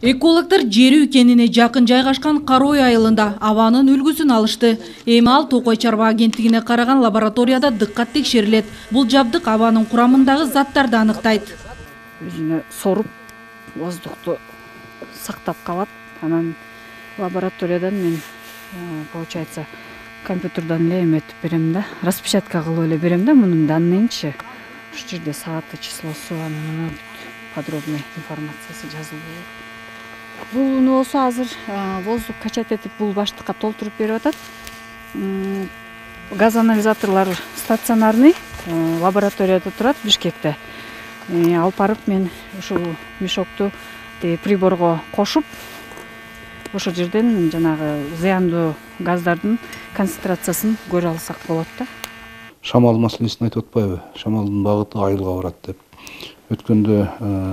Экологдор Жерүү кенине жакын жайгашкан Карой айылында абанын үлгүсүн алышты. Эми ал Токой чарба агенттигине караган лабораторияда дыккат текшерилет. Бул жабдык абанын курамындагы заттарды аныктайт. Өзүнө соруп, воздухту сактап калат. Анан лабораториядан мен получается компьютерден эле эметип берем да, распечатка кылып эле берем да мунун данныйынчы. Ушул жерде сааты, числосу, анан подробный информациясы жазылып. Бул болсо азыр воздух качать этип бул баштыкка толтуруп берип атат. Газ анализаторлор стационарный лабораторияда турат Бишкекте. Алып барып мен ушул мешокту приборго кошуп, ошол жерден жанагы зыяндуу газдардын концентрациясын көрө алсак болот да. Шамал маселесин айтып атпайбы? Шамалдын багыты айылга барат деп. Өткөндө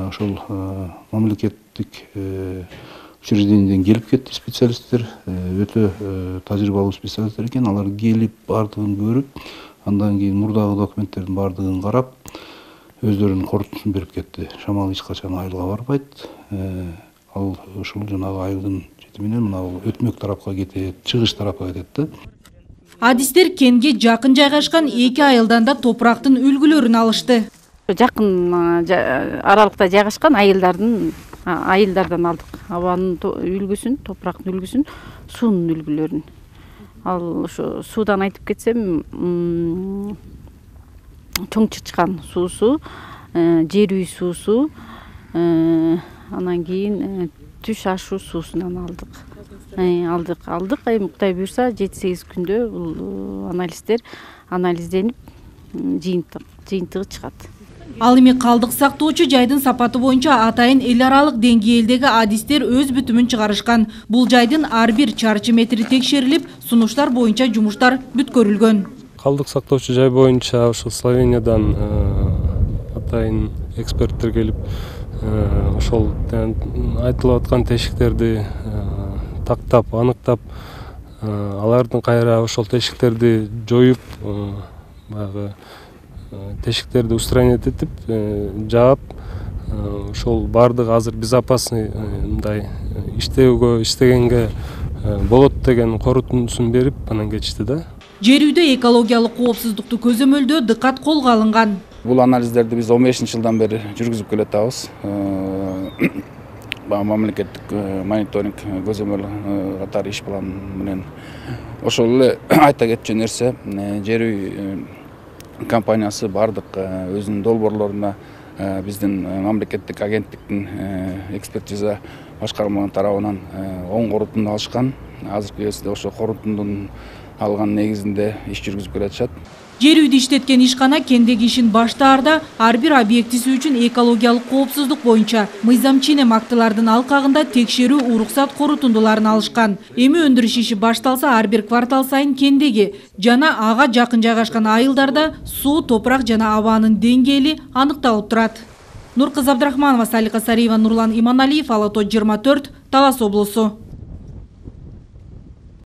ошол мамлекеттик учреждениеден келип кетти специалисттер, өтө тажрыйбалуу специалисттер экен. Алар келип бардыгын көрүп, андан кийин мурдагы документтердин бардыгын карап, өздөрүнүн корутуусун берип кетти. Шамал эч качан айылга барбайт. Ал ушул жанагы айылдын чети менен мына өтмөк тарапка кетет, чыгыш тарапка кетет да. Адистер кенге жакын жайгашкан эки айылдан да топурактын үлгүлөрүн алышты. Жакын аралыкта жайгашкан айылдардан алдык. Абанын үлгүсүн, топурактын үлгүсүн, суунун үлгүлөрүн. Ал ошо суудан айтып кетсем, Чоң Чычкан суусу, Жерүү суусу, анан кийин Түш Ашу суусунан алдык. Алдык. Эми Кудай буйрса 7-8 күндө бул анализденип жыйынтыгы чыгат. Ал эми калдык сактоочу жайдын сапаты боюнча атайын эл аралык деңгээлдеги адистер өз бүтүмүн чыгарышкан. Бул жайдын ар бир чарчы метри текшерилип, сунуштар боюнча жумуштар бүткөрүлгөн. Калдык сактоочу жай боюнча ошо Словениядан атайын эксперттер келип, ошол айтылып аткан тешиктерди тактап, аныктап, алардын кайра ошол тешиктерди жоюп, баягы тешиктерди устранить этип, жаап, ошол бардыгы азыр безопасный мындай иштегенге болот деген корутуусун берип, анан кетишти да. Жерүүдө экологиялык коопсуздукту көзөмөлдөө дыккат колго алынган. Бул анализдерди биз 15-жылдан бери жүргүзүп келатабыз. Мамлекеттик мониторинг көзөмөл катары иш план менен. Ошол эле айта кетчү нерсе, Жерүү компаниясы бардык өзүнүн долбоорлоруна биздин мамлекеттик агенттиктин экспертиза башкармаларынын тарабынан оң корутунду алышкан. Азыркы кезде ошо корутундун алган негизинде иш жүргүзүп келатышат. Жерүүдө иштеткен ишкана кендеги ишин баштаарда ар бир объектиси үчүн экологиялык коопсуздук боюнча мыйзам ченем актылардын алкагында текшерүү уруксат корутундуларын алышкан. Эми өндүрүш иши башталса, ар бир квартал сайын кендеги жана ага жакын жайгашкан айылдарда суу, топурак жана абанын деңгээли аныкталып турат. Нуркызы Абдрахманова, Салика Сариева, Нурлан Иманалиев, Ала Тоо 24, Талас облусу.